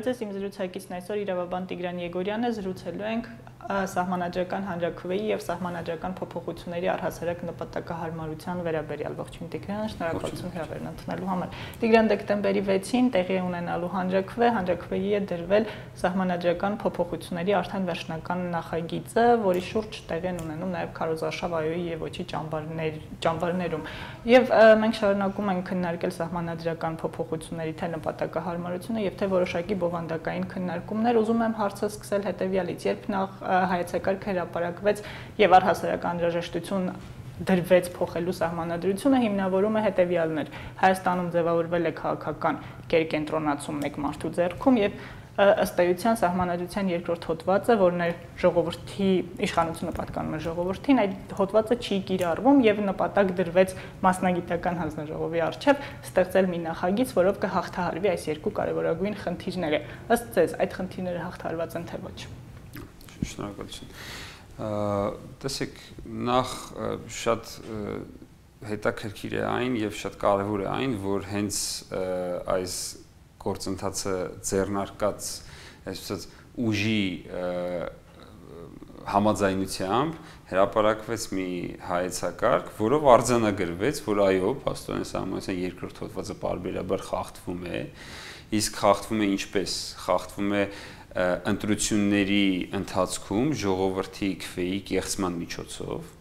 Բարև ձեզ, իմ զրուցակիցն այսօր իրավաբան Տիգրան Եգորյանն է, զրուցելու ենք սահմանադրական հանրաքվեի եւ սահմանադրական փոփոխությունների առհասարակ նպատակահարմարության վերաբերյալ։ Ողջույն Տիգրան, շնորհակալություն հրավերն ընդունելու համար։ Տիգրան, դեկտեմբերի 6-ին տեղի է ունենալու հանրաքվեի է դրվել սահմանադրական փոփոխությունների արդեն վերջնական նախագիծը, որի շուրջ տեղի են ունենում նաեւ քարոզարշավ այոյի եւ ոչի ճամբարներում։ Եվ մենք շարունակում ենք քննարկել սահմանադրական փոփոխությունների թե նպատակահարմարությունը եւ թե որոշակի բովանդակային քննարկումներ։ Ուզում եմ հարցը սկսել հետեւյալից. երբ նախ հայեցակարգ հրապարակվեց եւ առհասարակ անհրաժեշտություն դրվեց փոխելու սահմանադրությունը, հիմնավորում է հետեւյալն էր. Հայաստանում ձևավորվել է քաղաքական կերկենտրոնացում մեկ մարդու ձեռքում եւ ըստ էության սահմանադրության երկրորդ հոդվածը, որն է ժողովրդի իշխանությունը պատկանում է ժողովրդին, այդ հոդվածը չի կիրառվում եւ նպատակ դրվեց մասնագիտական հանձնաժողովի առջեւ ստեղծել մի նախագիծ, որով կհաղթահարվի այս երկու կարևորագույն խնդիրները։ Ըստ ձեզ, այդ խնդիրները հաղթահարված են թե ոչ։ Շնորհակալություն։ Տեսեք, նախ շատ հետաքրքիր է այն եւ շատ կարեւոր է այն, որ հենց այս գործընթացը ձեռնարկած այսպես ուժի համաձայնությամբ հրապարակվեց մի հայեցակարգ, որով արձանագրվեց, որ այո, փաստորեն սահմանադրության երկրորդ հոդվածը պարբերաբար խախտվում է, իսկ խախտվում է ինչպես, խախտվում է ընտրությունների ընթացքում ժողովրդի քվեի կեղծման միջոցով,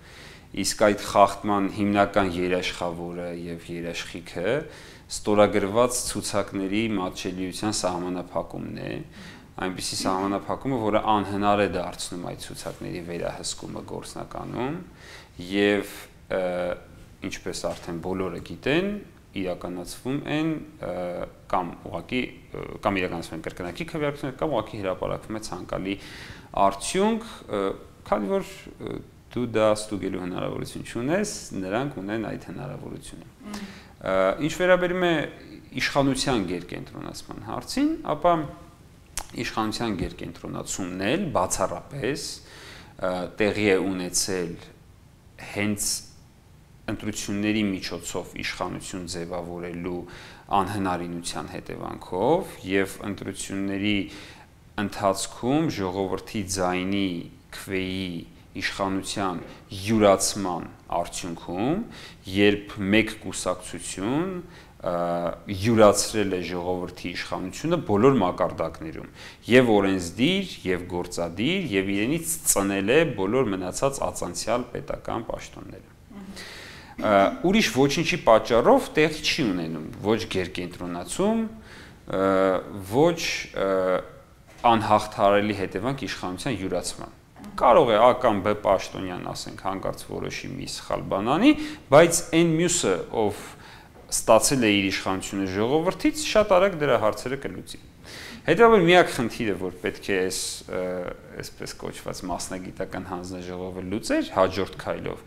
իսկ այդ խախտման հիմնական երաշխավորը եւ երաշխիքը ստորագրված ցուցակների մատչելիության սահմանափակումն է, այնպիսի սահմանափակումը, որը անհնար է դարձնում այդ ցուցակների վերահսկումը գործնականում եւ ինչպես արդեն բոլորը գիտեն, իրականացվում են կամ ուղղակի կամ իրականացվում են կրկնակի քվեարկություններ կամ ուղղակի հրապարակվում է ցանկալի արդյունք, քանի որ դու դա ստուգելու հնարավորություն չունես, նրանք ունեն այդ հնարավորությունը։ Ինչ վերաբերում է իշխանության գերկենտրոնացման հարցին, ապա իշխանության գերկենտրոնացումն էլ բացառապես տեղի է ունեցել հենց ընտրությունների միջոցով իշխանություն ձևավորելու անհնարինության հետևանքով եւ ընտրությունների ընթացքում ժողովրդի ձայնի քվեի իշխանության յուրացման արդյունքում, երբ մեկ կուսակցություն յուրացրել է ժողովրդի իշխանությունը բոլոր մակարդակներում, եւ օրենսդիր, եւ գործադիր, եւ իրենից ծնել է բոլոր մնացած ածանցյալ պետական պաշտոնները։ Ուրիշ ոչինչի պատճառով տեղի չի ունենում ոչ գերկենտրոնացում, ոչ անհաղթահարելի հետևանք իշխանության յուրացման։ Կարող է A կամ B պաշտոնյան, ասենք, հանկարծ որոշի մի սխալ բան անի, բայց այն մյուսը, ով ստացել է իր իշխանությունը ժողովրդից, շատ արագ դրա հարցերը կլուծի։ Հետևաբար միակ խնդիրը, որ պետք է այսպես կոչված մասնագիտական հանձնաժողովը լուծեր հաջորդ քայլով,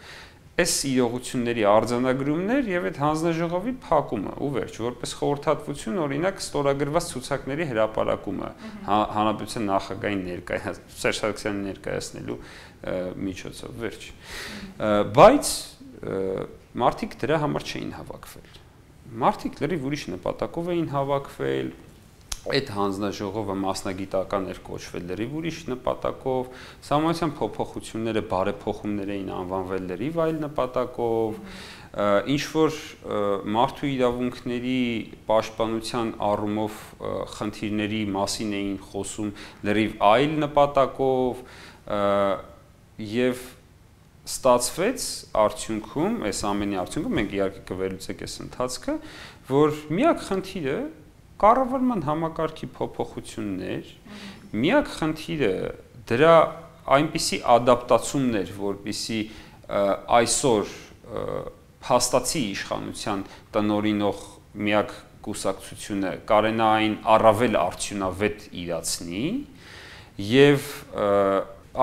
այս իրողությունների արձանագրումներ եւ այդ հանձնաժողովի փակումը ու վերջ, որպես խորհրդատվություն օրինակ ստորագրված ցուցակների հրապարակումը հանրապետության նախագահային Սերժ Սարգսյանին ներկայացնելու միջոցով, վերջ։ Բայց մարդիկ դրա համար չէին հավաքվել։ Մարդիկ լրիվ ուրիշ նպատակով էին հավաքվել, այդ հանձնաժողովը մասնագիտական էր կոչվել լրիվ ուրիշ նպատակով, սահմանադրության փոփոխությունները բարեփոխումներ էին անվանվել լրիվ այլ նպատակով, ինչ որ մարդու իրավունքների պաշտպանության առումով խնդիրների մասին էին խոսում լրիվ այլ նպատակով եւ ստացվեց արդյունքում, այս ամենի արդյունքում մենք իհարկե կվերլուծենք այս ընթացքը, որ միակ խնդիրը կառավարման համակարգի փոփոխություններ, միակ խնդիրը դրա այնպիսի ադապտացումն էր, որպեսզի այսօր փաստացի իշխանության տնօրինող միակ կուսակցությունը կարենա այն առավել արդյունավետ իրացնի եւ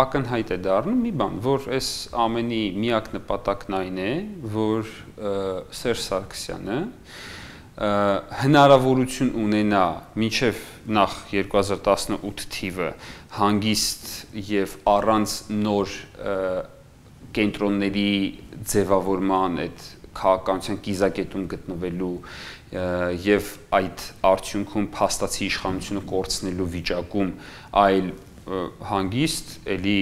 ակնհայտ է դառնում մի բան, որ այս ամենի միակ նպատակն այն է, որ Սերժ Սարգսյանը հնարավորություն ունենա մինչև նախ 2018 թիվը հանգիստ եւ առանց նոր կենտրոնների ձևավորման այդ քաղաքականության կիզակետում գտնվելու եւ այդ արդյունքում փաստացի իշխանությունը կորցնելու վիճակում, այլ հանգիստ էլի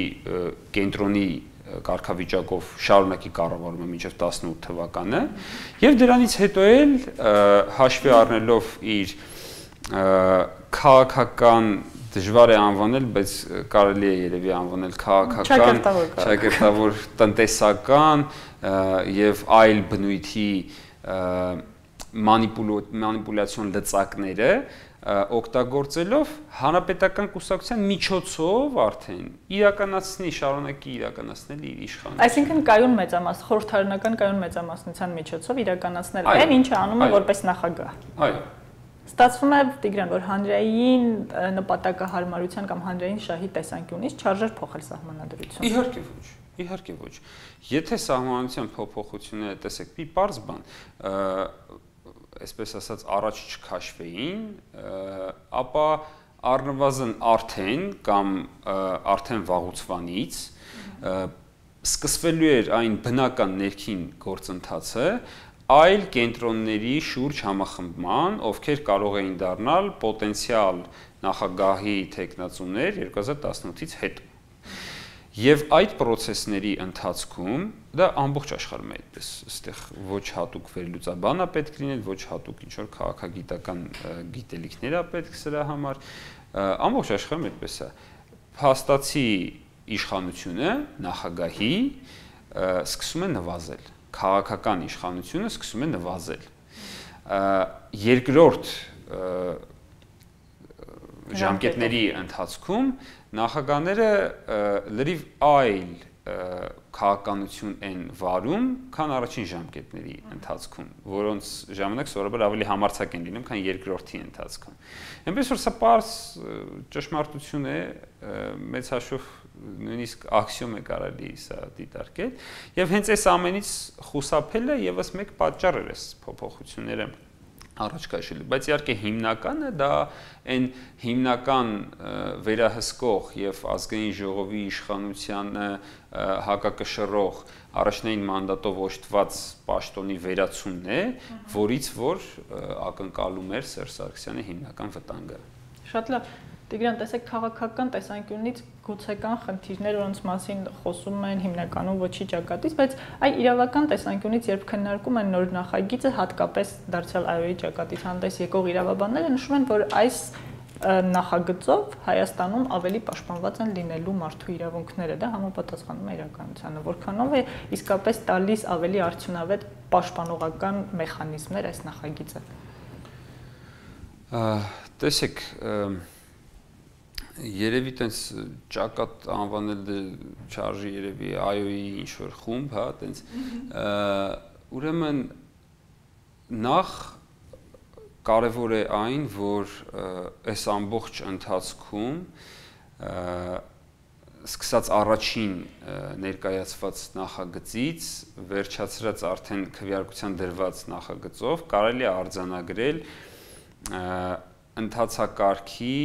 կենտրոնի կարգավիճակով շարունակի կառավարումը մինչև 18 թվականը եւ դրանից հետո էլ հաշվի առնելով իր քաղաքական դժվար է անվանել, բայց կարելի է երևի անվանել քաղաքական, ճակերտավոր տնտեսական եւ այլ բնույթի մանիպուլյացիոն լծակները օգտագործելով հանրապետական կուսակցության միջոցով արդեն իրականացնի, շարունակի իրականացնել իր իշխանությունը։ Այսինքն կայուն մեծամասն, խորհրդարանական կայուն մեծամասնության միջոցով իրականացնել այն, ինչը անում է որպես նախագահ։ Այո։ Ստացվում է Տիգրան, որ հանրային նպատակահարմարության կամ հանրային շահի տեսանկյունից չարժեր փոխել սահմանադրությունը։ Իհարկե ոչ, իհարկե ոչ։ Եթե սահմանադրության փոփոխությունները, տեսեք, մի պարզ բան, այսպես ասած, առաջ չքաշվեին, ապա առնվազն արդեն կամ արդեն վաղուց սկսվելու էր այն բնական ներքին գործընթացը այլ կենտրոնների շուրջ համախմբման, ովքեր կարող էին դառնալ պոտենցիալ նախագահի թեկնածուներ 2018-ից հետո։ Եվ այդ process-ների ընթացքում դա ամբողջ աշխարհում է այդպես, այստեղ ոչ հատուկ վերլուծաբան է պետք լինել, ոչ հատուկ ինչ որ քաղաքագիտական գիտելիքներ է պետք սրա համար, ամբողջ աշխարհում այդպես է։ Փաստացի իշխանությունը նախագահի սկսում է նվազել, քաղաքական իշխանությունը սկսում է նվազել։ Երկրորդ ժամկետների ընթացքում նախագահները լրիվ այլ քաղաքականություն են վարում, քան առաջին ժամկետների ընթացքում, որոնց ժամանակ սովորաբար ավելի համարձակ են լինում, քան երկրորդի ընթացքում։ Այնպես որ սա պարզ ճշմարտություն է, մեծ հաշվով նույնիսկ աքսիոմ է կարելի սա դիտարկել, եւ հենց այս ամենից խուսափելը եւս մեկ պատճառ էր այս փոփոխությունները առաջ քաշելու, բայց իհարկե հիմնականը դա այն հիմնական վերահսկող եւ ազգային ժողովի իշխանությանը հակակշռող առաջնային մանդատով օժտված պաշտոնի վերացումն է, որից որ ակնկալում էր Սերժ Սարգսյանի հիմնական վտանգը։ Շատ լավ։ Տիգրան, տեսեք, քաղաքական տեսանկյունից գուցե կան խնդիրներ, որոնց մասին խոսում են հիմնականում ոչի ճակատից, բայց այ իրավական տեսանկյունից, երբ քննարկում են նոր նախագիծը, հատկապես դարձյալ ԱՅՈ-ի ճակատից հանդես եկող իրավաբանները նշում են, որ այս նախագծով Հայաստանում ավելի պաշտպանված են լինելու մարդու իրավունքները, դա համապատասխանում է իրականությանը, որքանով է իսկապես տալիս ավելի արդյունավետ պաշտպանողական մեխանիզմներ այս նախագիծը։ Տեսեք, երևի տենց ճակատ անվանել չարժի երևի ԱՅՈ-ի ինչ-որ խումբ, հա, տենց ուրեմն նախ կարևոր է այն, որ այս ամբողջ ընթացքում սկսած առաջին ներկայացված նախագծից վերջացրած արդեն քվեարկության դրված նախագծով կարելի է արձանագրել ընթացակարգի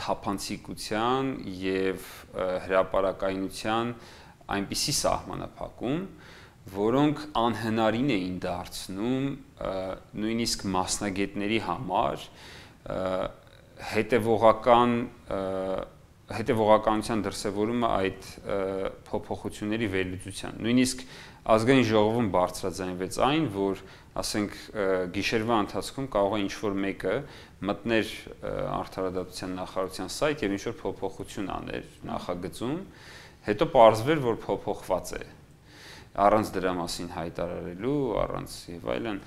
թափանցիկության եւ հրապարակայնության այնպիսի սահմանափակում, որոնք անհնարին էին դարձնում նույնիսկ մասնագետների համար հետևողականության դրսևորումը այդ փոփոխությունների վերլուծության։ Նույնիսկ ազգային ժողովում բարձրաձայնվեց այն, որ ասենք գիշերվա ընթացքում կարող է ինչ-որ մեկը մտներ արդարադատության նախարարության սայթ եւ ինչ-որ փոփոխություն աներ նախագծում, հետո պարզվեր, որ փոփոխված է, առանց դրա մասին հայտարարելու, առանց եւ այլն։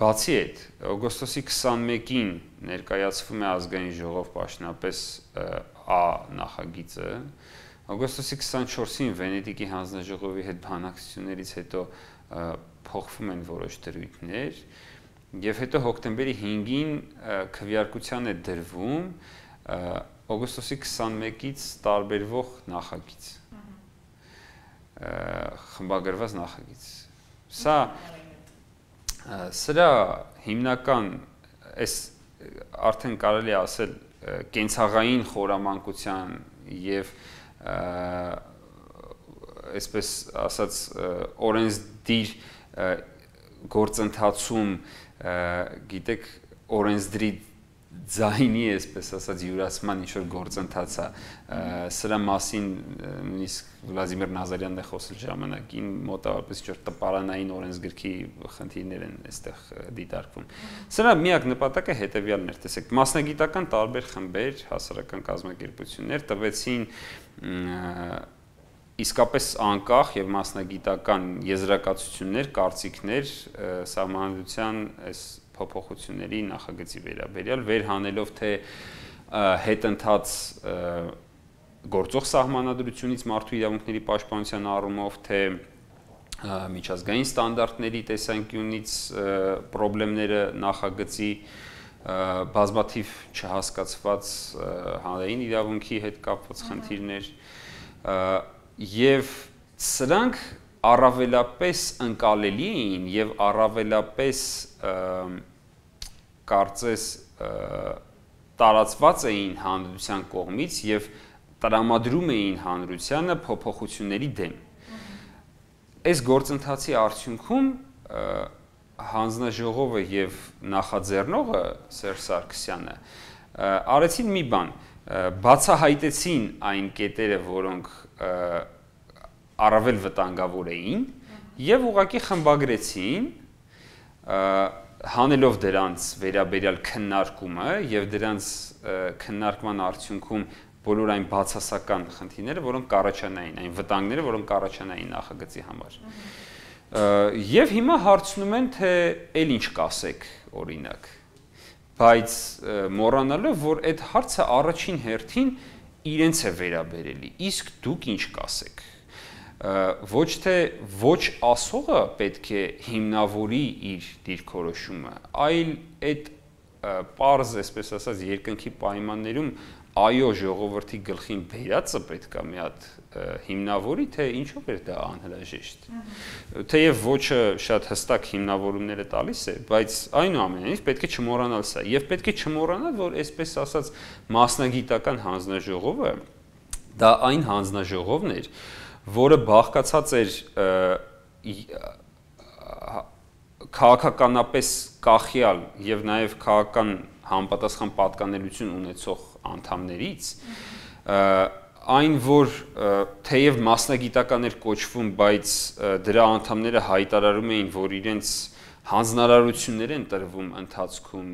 Բացի այդ, օգոստոսի 21-ին ներկայացվում է ազգային ժողով պաշտոնապես Ա նախագիծը, օգոստոսի 24-ին Վենետիկի հանձնաժողովի հետ բանակցություններից հետո փոխվում են որոշ դրույթներ եւ հետո հոկտեմբերի 5-ին քվեարկության է դրվում օգոստոսի 21-ից տարբերվող նախագիծ, խմբագրված նախագիծ։ Սրա հիմնական այս արդեն կարելի է ասել կենցաղային խորամանկության եւ այսպես ասած օրենսդիր գործընթացում գիտեք օրենսդրի ձայնի այսպես ասած յուրացման ինչ որ գործընթաց է սրա մասին նույնիսկ Վլադիմիր Նազարյանն է խոսել ժամանակին մոտավորապես ինչ որ տպարանային օրենսգրքի խնդիրներ են այստեղ դիտարկվում սրա միակ նպատակը հետեւյալն էր տեսեք մասնագիտական տարբեր խմբեր հասարակական կազմակերպություններ տվեցին իսկապես անկախ եւ մասնագիտական եզրակացություններ կարծիքներ սահմանադրության այս փոփոխությունների նախագծի վերաբերյալ վերհանելով թե հետընթաց գործող սահմանադրությունից մարդու իրավունքների պաշտպանության առումով թե միջազգային ստանդարտների տեսանկյունից խնդիրները նախագծի բազմաթիվ չհասկացված հանրային իրավունքի հետ կապված խնդիրներ եւ սրանք առավելապես ընկալելի էին եւ առավելապես կարծես տարածված էին հանրության կողմից եւ տրամադրում էին հանրությանը փոփոխությունների դեմ։ Այս գործընթացի արդյունքում հանձնաժողովը եւ նախաձեռնողը Սերժ Սարգսյանը արեցին մի բան, բացահայտեցին այն կետերը, որոնք առավել վտանգավոր էին եւ ուղղակի խմբագրեցին հանելով դրանց վերաբերյալ քննարկումը եւ դրանց քննարկման արդյունքում բոլոր այն բացասական խնդիրները, որոնք կառաջանային, այն վտանգները, որոնք կառաջանային նախագծի համար։ Եվ հիմա հարցնում են, թե ել ինչ կասեք, օրինակ։ Բայց մոռանալով, որ այդ հարցը առաջին հերթին իրենց է վերաբերելի, իսկ դուք ինչ կասեք։ Ոչ թե ոչ ասողը պետք է հիմնավորի իր դիրքորոշումը, այլ այդ պարզ, այսպես ասած, երկնքի պայմաններում այո ժողովրդի գլխին բերածը պետք է մի հատ հիմնավորի, թե ինչով էր դա անհրաժեշտ։ Թեև ոչը շատ հստակ հիմնավորումներ է տալիս է, բայց այնուամենայնիվ պետք է չմոռանալ սա, եւ պետք է չմոռանալ, որ այսպես ասած մասնագիտական հանձնաժողովը դա այն հանձնաժողովն էր, որը բաղկացած էր քաղաքականապես կախյալ եւ նաեւ քաղաքական համապատասխան պատկանելություն ունեցող անդամներից այն որ թեև մասնագիտական էր կոչվում, բայց դրա անդամները հայտարարում էին, որ իրենց հանձնարարություններ են տրվում ընթացքում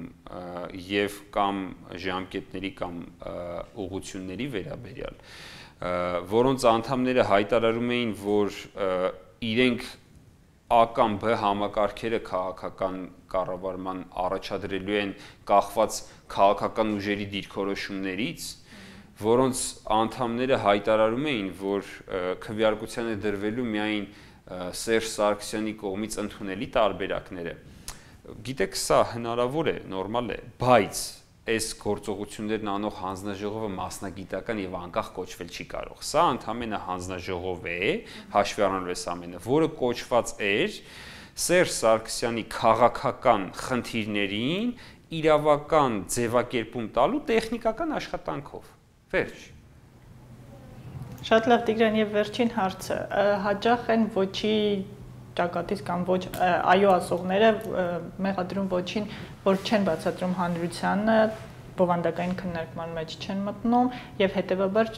եւ կամ ժամկետների կամ ուղղությունների վերաբերյալ, որոնց անդամները հայտարարում էին, որ իրենք A կամ B համակարգերը քաղաքական կառավարման առաջադրելու են կախված քաղաքական ուժերի դիրքորոշումներից, որոնց անդամները հայտարարում էին, որ քվեարկության է դրվելու միայն Սերժ Սարգսյանի կողմից ընդունելի տարբերակները։ Գիտեք, սա հնարավոր է, նորմալ է, բայց այս գործողություններն անող հանձնաժողովը մասնագիտական եւ անկախ կոչվել չի կարող։ Սա ընդհանրապես հանձնաժողով է, հաշվի առնելով այս ամենը, որը կոչված էր Սերժ Սարգսյանի քաղաքական խնդիրներին իրավական ձևակերպում տալու տեխնիկական աշխատանքով։ Վերջ։ Շատ լավ Տիգրան, եւ վերջին հարցը, հաճախ են ոչի ճակատից կամ ոչ այո ասողները մեղադրում ոչին, որ չեն բացատրում հանրությանը, բովանդակային քննարկման մեջ չեն մտնում եւ հետեւաբար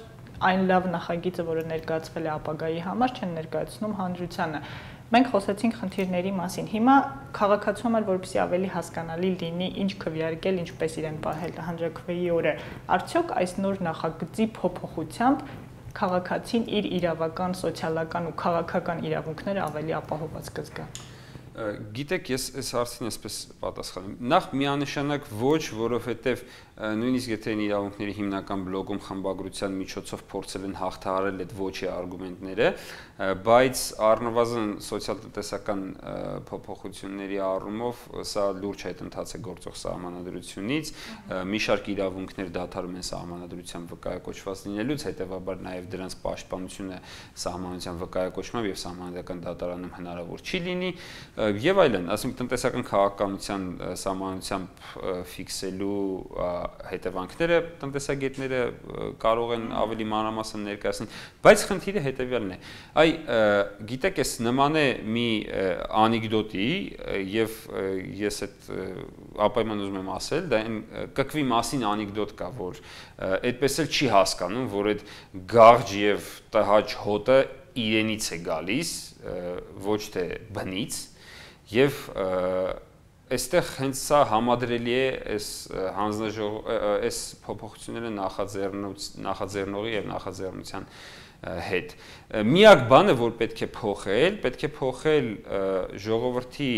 այն լավ նախագիծը, որը ներկայացվել է ապագայի համար, չեն ներկայացնում հանրությանը։ Մենք խոսեցինք խնդիրների մասին։ Հիմա քաղաքացու համար, որպեսզի ավելի հասկանալի լինի, ինչ քվեարկել, ինչպես իրեն պահել հանրաքվեի օրը, արդյոք այս նոր նախագծի փոփոխությամբ քաղաքացին իր իրավական, սոցիալական ու քաղաքական իրավունքները ավելի ապահովված կզգա։ Գիտեք, ես այս հարցին այսպես պատասխանեմ։ Նախ միանշանակ ոչ, որովհետև նույնիսկ եթե իրավունքների հիմնական բլոկում խմբագրության միջոցով փորձել են հաղթահարել այդ ոչի արգումենտները, բայց առնվազն սոցիալ-տնտեսական փոփոխությունների առումով սա լուրջ հետընթաց է գործող սահմանադրությունից, մի շարք իրավունքներ դադարում են սահմանադրության վկայակոչված լինելուց, հետևաբար նաև դրանց պաշտպանությունը սահմանադրության վկայակոչմամբ եւ սահմանադրական դատարանում հնարավոր չի լինի, եւ այլն, ասենք տնտեսական քաղաքականության սահմանությամբ ֆիքսելու հետևանքները տնտեսագետները կարող են ավելի մանրամասն ներկայացնել, բայց խնդիրը հետեւյալն է։ Գիտեք, այս նման է մի անեկդոտի եւ ես այդ ապայման ուզում եմ ասել, դա այն կկվի մասին անեկդոտ կա, որ այդպես էլ չի հասկանում, որ այդ գաղջ եւ տհաճ հոտը իրենից է գալիս, ոչ թե բնից, եւ այստեղ հենց սա համադրելի է այս փոփոխությունները նախաձեռնողի եւ նախաձեռնության հետ։ Միակ բանը, որ պետք է փոխել ժողովրդի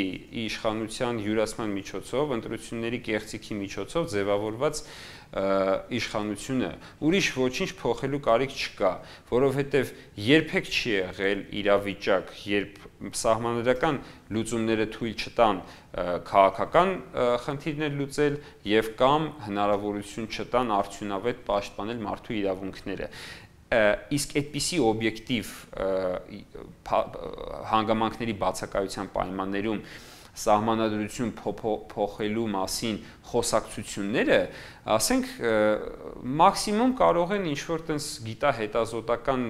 իշխանության յուրացման միջոցով, ընտրությունների կեղծիքի միջոցով ձևավորված իշխանությունը, ուրիշ ոչինչ փոխելու կարիք չկա, որովհետև երբեք չի եղել իրավիճակ, երբ սահմանադրական լուծումները թույլ չտան քաղաքական խնդիրներ լուծել եւ կամ հնարավորություն չտան արդյունավետ պաշտպանել մարդու իրավունքները։ Իսկ այդպիսի օբյեկտիվ հանգամանքների բացակայության պայմաններում սահմանադրություն փոխելու մասին խոսակցությունները, ասենք, մաքսիմում կարող են ինչ-որ տենց գիտահետազոտական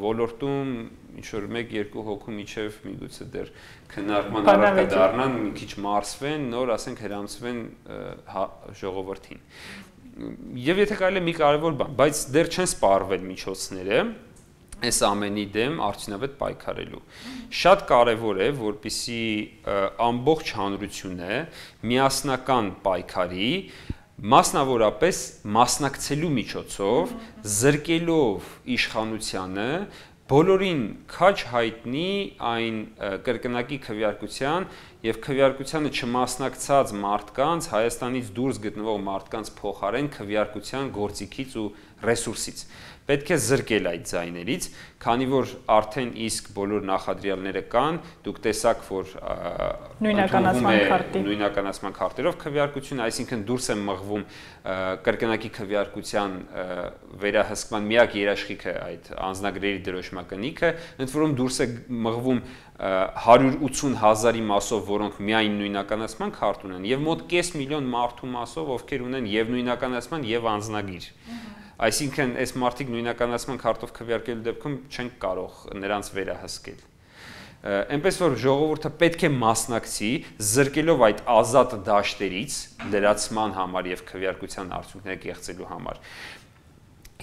ոլորտում ինչ-որ 1-2 հոգու միջև միգուցե դեռ քննարկման առարկա դառնան, մի քիչ մարսվեն, նոր ասենք հրամցվեն ժողովրդին։ Եվ եթե կարելի է մի կարևոր բան, բայց դեռ չեն սպառվել միջոցները այս ամենի դեմ արդյունավետ պայքարելու։ Շատ կարևոր է, որպեսզի ամբողջ հանրությունը միասնական պայքարի, մասնավորապես մասնակցելու միջոցով, զրկելով իշխանությանը, բոլորին քաջ հայտնի այն կրկնակի քվեարկության եւ քվեարկությանը չմասնակցած մարդկանց, Հայաստանից դուրս գտնվող մարդկանց փոխարեն քվեարկության գործիքից ու ռեսուրսից։ Պետք է զրկել այդ ձայներից, քանի որ արդեն իսկ բոլոր նախադրյալները կան, դուք տեսաք, որ նույնականացման քարտերով քվեարկություն, այսինքն դուրս է մղվում կրկնակի քվեարկության վերահսկման միակ երաշխիքը այդ անձնագրերի դրոշմակնիքը, ընդ որում դուրս է մղվում 180,000-ի մասով, որոնք միայն նույնականացման քարտ ունեն, եւ մոտ կես միլիոն մարդու մասով, ովքեր ունեն եւ նույնականացման եւ անձնագիր։ Այսինքն, այս մարդիկ նույնականացման քարտով քվեարկելու դեպքում չեն կարող նրանց վերահսկել։ Այնպես որ ժողովուրդը պետք է մասնակցի, զրկելով այդ ազատ դաշտերից լրացման համար եւ քվեարկության արդյունքները կեղծելու համար։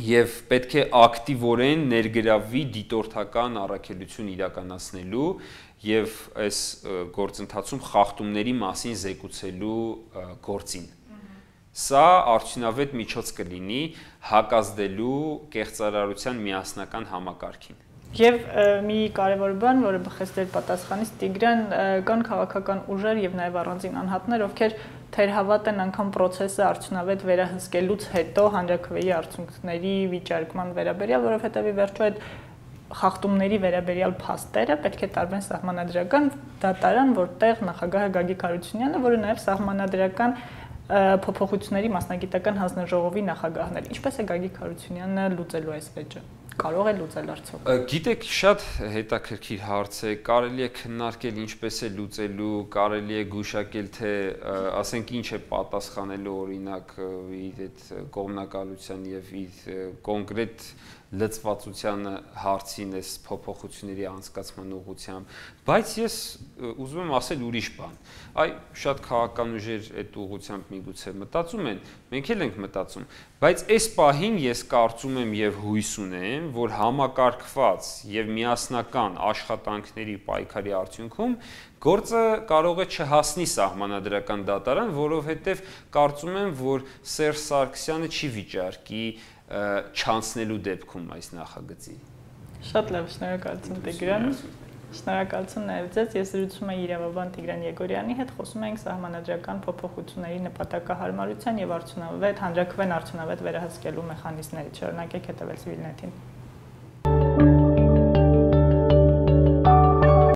Եվ պետք է ակտիվորեն ներգրավվի դիտորդական առաքելություն իրականացնելու եւ այս գործընթացում խախտումների մասին զեկուցելու գործին։ Սա արդյունավետ միջոց կլինի հակազդելու կեղծարարության միասնական համակարգին։ Եվ մի կարևոր բան, որը բխեցրել պատասխանից Տիգրան, կան քաղաքական ուժեր եւ նաեւ առանձին անհատներ, ովքեր թերհավատ են անգամ process-ը արդյունավետ վերահսկելուց հետո հանրաքվեի արդյունքների վիճարկման վերաբերյալ, որովհետեւ ի վերջո այդ խախտումների վերաբերյալ փաստերը պետք է տարվեն սահմանադրական դատարան, որտեղ նախագահը Գագիկ Հարությունյանը, որը նաեւ սահմանադրական փոփոխությունների մասնագիտական հանձնաժողովի նախագահն էր։ Ինչպես է Գագիկ Հարությունյանը լուծելու այս վեճը։ Կարող է լուծել արդյոք։ Գիտեք, շատ հետաքրքիր հարց է, կարելի է քննարկել ինչպես է լուծելու, կարելի է գուշակել, թե ասենք ինչ է պատասխանելու օրինակ իր այդ կողմնակալության եւ իր կոնկրետ լծվածության հարցին այս փոփոխությունների անցկացման ուղղությամբ, բայց ես ուզում եմ ասել ուրիշ բան։ Շատ քաղաքական ուժեր այդ ուղղությամբ միգուցե մտածում են, մենք էլ ենք մտածում, բայց այս պահին ես կարծում եմ եւ հույս ունեմ, որ համակարգված եւ միասնական աշխատանքների պայքարի արդյունքում գործը կարող է չհասնի սահմանադրական դատարան, որովհետեւ կարծում եմ, որ Սերժ Սարգսյանը չի վիճարկի չանցնելու դեպքում այս նախագծի։ Շատ լավ, շնորհակալություն Տիգրան։ Շնորհակալություն նաև ձեզ։ Ես զրուցում եմ իրավաբան Տիգրան Եգորյանի հետ, խոսում ենք սահմանադրական փոփոխությունների նպատակահարմարության եւ արդյունավետ հանրաքվեն արդյունավետ վերահսկելու մեխանիզմներից։ Շարունակեք հետևել Civilnet-ին։